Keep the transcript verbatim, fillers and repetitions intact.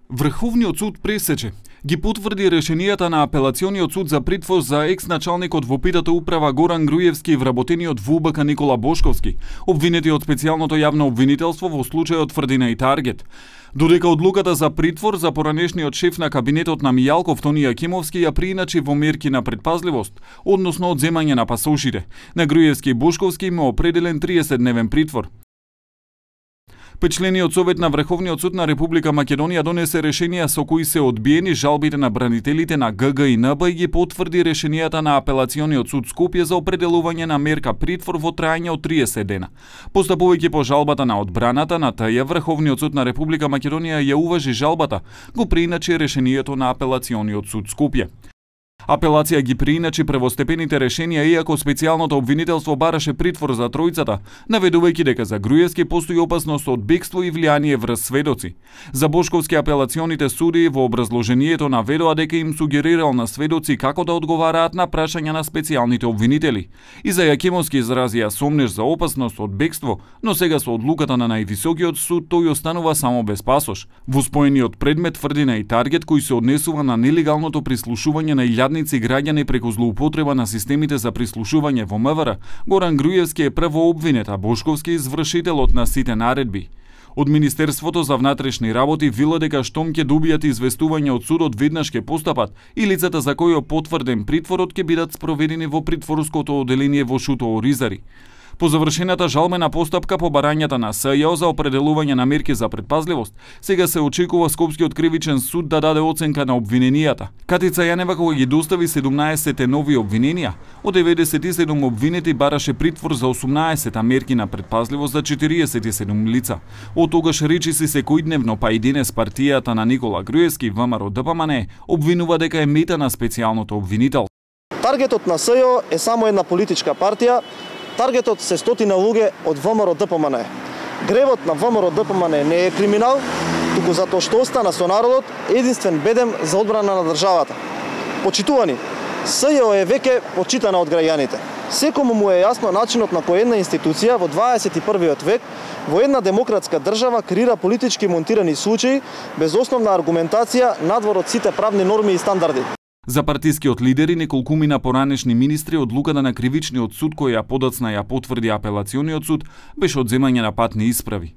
Врховниот суд пресече ги потврди решенијата на апелациониот суд за притвор за екс-началникот во Питата управа Горан Груевски и вработениот во У Б К Никола Бошковски, обвинети од специјалното јавно обвинителство во случајот Тврдина и Таргет. Додека одлуката за притвор за поранешниот шеф на кабинетот на Мијалков Тони Јакимовски ја прииначи во мерки на предпазливост, односно одземање на пасошите. На Груевски и Бошковски има определен триесетдневен притвор. Петчлениот совет на Врховниот суд на Република Македонија донесе решенија со кои се одбиени жалбите на бранителите на Г Г и Н Б и ги потврди решенијата на апелациониот суд Скопје за определување на мерка притвор во трајање од триесет дена. Постапувајќи по жалбата на одбраната на Т Ј, Врховниот суд на Република Македонија ја уважи жалбата, го прииначи решението на апелациониот суд Скопје. Апелација ги прииначи првостепените решенија, иако специјалното обвинителство бараше притвор за тројцата, наведувајќи дека за Груевски постои опасност од бегство и влијание врз сведоци. За Бошковски апелационите суди во образложението наведоа дека им сугерирал на сведоци како да одговараат на прашања на специјалните обвинители. И за Јакимовски изразија сомнеш за опасност од бегство, но сега со одлуката на највисокиот суд тој останува само без пасош. Во споениот предмет Тврдина и Таргет, кој се однесува на нелегалното прислушување на илјадници граѓани преку злоупотреба на системите за прислушување во М В Р, Горан Груевски е прво обвинет, а Бошковски извршителот на сите наредби. Од Министерството за внатрешни работи вела дека штом ќе добијат известување од судот веднаш ќе постапат и лицата за кои е потврден притворот ќе бидат спроведени во притворското оделение во Шуто Оризари. По завршената жалбена постапка по барањата на С Ј О за определување на мерки за предпазливост, сега се очекува Скопскиот кривичен суд да даде оценка на обвиненијата. Катица Јанева кога ги достави седумнаесет нови обвиненија, од деветдесет и седум обвинети бараше притвор за осумнаесет мерки на предпазливост за четириесет и седум лица. Од тогаш речиси секојдневно, па и денес партијата на Никола Груевски, В М Р Д П М Н, обвинува дека е мета на специјалното обвинител. Таргетот на С Ј О е само една политичка партија. Таргетот се стотина луѓе од В М Р Д П М Н. Гревот на В М Р Д П М Н не е криминал, туку затоа што остана со народот единствен бедем за одбрана на државата. Почитувани, С Ј О е веќе почитана од граѓаните. Секому му е јасно начинот на кој една институција во дваесет и првиот век во една демократска држава креира политички монтирани случаи без основна аргументација надвор од сите правни норми и стандарди. За партискиот лидер и неколкумина поранешни министри одлуката на кривичниот суд која подоцна ја потврди апелациониот суд беше одземање на патни исправи.